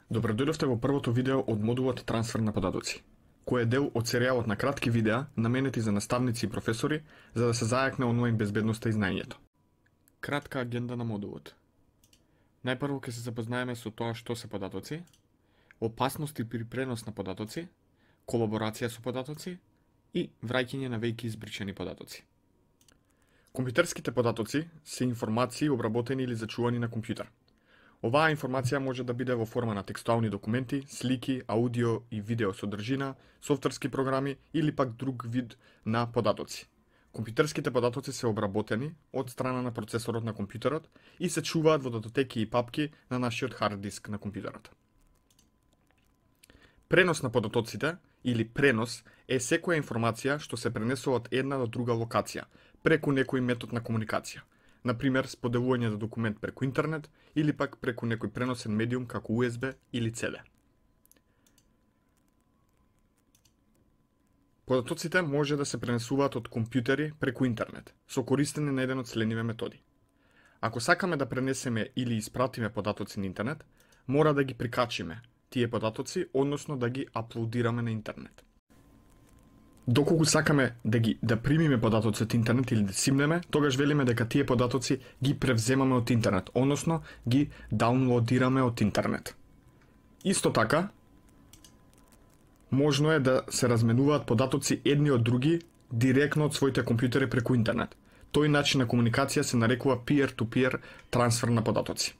Добродојдовте во првото видео од модулот Трансфер на податоци, кој е дел од серијалот на кратки видеа наменети за наставници и професори за да се зајакне онлайн безбедноста и знаењето. Кратка агенда на модулот. Најпрво ќе се запознаеме со тоа што се податоци, опасности при пренос на податоци, колаборација со податоци и враќање на веќе избричани податоци. Компјутерските податоци се информации обработени или зачувани на компјутер. Оваа информација може да биде во форма на текстуални документи, слики, аудио и видео содржина, софтверски програми или пак друг вид на податоци. Компјутерските податоци се обработени од страна на процесорот на компјутерот и се чуваат во датотеки и папки на нашиот хард диск на компјутерот. Пренос на податоците или пренос е секоја информација што се пренесува од една до друга локација преку некој метод на комуникација. Например, споделување на документ преку интернет или пак преку некој преносен медиум како USB или CD. Податоците може да се пренесуваат од компјутери преку интернет со користење на еден од следниве методи. Ако сакаме да пренесеме или испратиме податоци на интернет, мора да ги прикачиме тие податоци, односно да ги аплодираме на интернет. Доколку сакаме да примиме податоци од интернет или да симнеме, тогаш велиме дека тие податоци ги превземаме од интернет, односно ги даунлодираме од интернет. Исто така, можно е да се разменуваат податоци едни од други директно од своите компјутери преку интернет. Тој начин на комуникација се нарекува peer-to-peer трансфер на податоци.